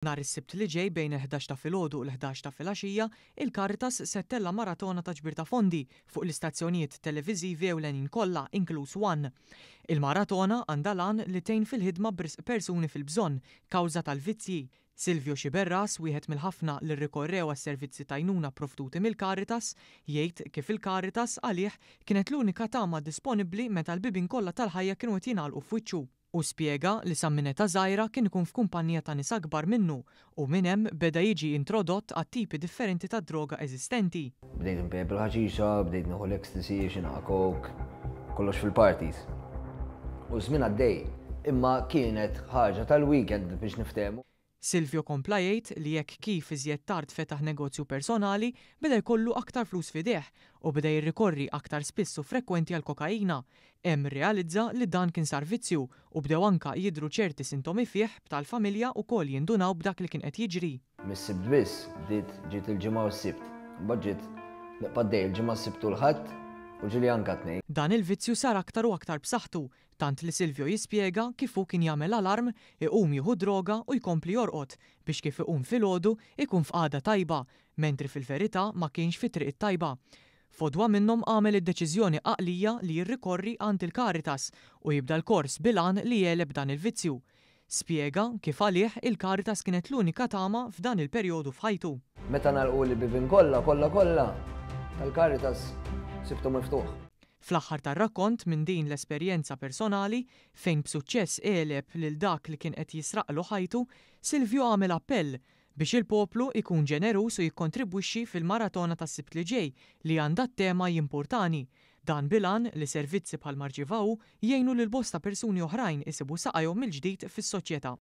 Nhar is-Sibt li ġej bejn il-11 ta' filgħodu u l-11 ta' filgħaxija, il-Caritas se ttella' maratona ta' ġbir ta' fondi fuq l-istazzjonijiet televiżivi ewlenin kollha inkluż One. Il-maratona għandha l-għan li tgħin fil-ħidma b'risq persuni fil-bżonn kawża tal-vizzji. Silvio Sciberras, wieħed mill-ħafna li rrikorrew għas-servizzi t'għajnuna pprovduti mill-Caritas, jgħid kif il-Caritas għalih kienet l-unika tama disponibbli meta l-bibien kollha tal-ħajja kienu qed jingħalqu f'wiċċu. Hu spjega li sa minn età żgħira kien ikun f'kumpanija ta' nies akbar minnu u minn hemm beda jiġi introdott għat-tipi differenti ta' droga eżistenti. Bdejt inpejjep il-ħaxixa, bdejt nieħu l-ecstasy, xi naqa' coke, kollox fil-parties. U ż-żmien għaddej, imma kienet ħaġa tal-weekend biex niftehmu. Silvio kompla jgħid li hekk kif iżjed tard fetaħ negozju personali, beda jkollu aktar flus f'idejh u beda jirrikorri aktar spiss u frekwenti għall-kokaina. Hemm rrealizza li dan kien sar vizzju u bdew anka jidhru ċerti sintomi fih b'tal-familja wkoll jindunaw b'dak li kien qed jiġri. Mis-Sibt biss bdiet ġiet il-Ġimgħa u s-Sibt. Imbagħad ġiet nibqa' għaddej il-Ġimgħa, s-Sibt u l-Ħadd u ġieli anka t-Tnejn. Dan il-vizzju sar aktar u aktar b'saħħtu Tant li Silvio jispjega kif hu kien jagħmel alarm, iqum jieħu d-droga u jkompli jorqod biex kif iqum filgħodu ikun f'qagħda tajba, mentri fil-verità ma kienx fit-triq it-tajba. F'għodwa minnhom għamel id-deċiżjoni għaqlija li jirrikorri għand il-Caritas u jibda l-kors bil-għan li jegħleb dan il-vizzju. Spjega kif għalih il-Caritas kienet l-unika tama f'dan il-perjodu f'ħajtu. Meta ngħalquli l-bibien kollha, kollha kollha, tal-Caritas sibtu miftuħ. Fl-aħħar tar-rakkont minn din l-esperjenza personali, fejn b'suċċess għeleb lil dak li kien qed jisraqlu ħajtu, Silvio għamel appell biex il-poplu jkun ġeneruż u jikkontribwixxi fil-maratona tas-Sibt li ġej li għandha t-tema Jimpurtani. Dan bil-għan li servizzi bħal ma rċieva hu jgħinu lil bosta persuni oħrajn isibu saqajhom mill-ġdid fis-soċjetà.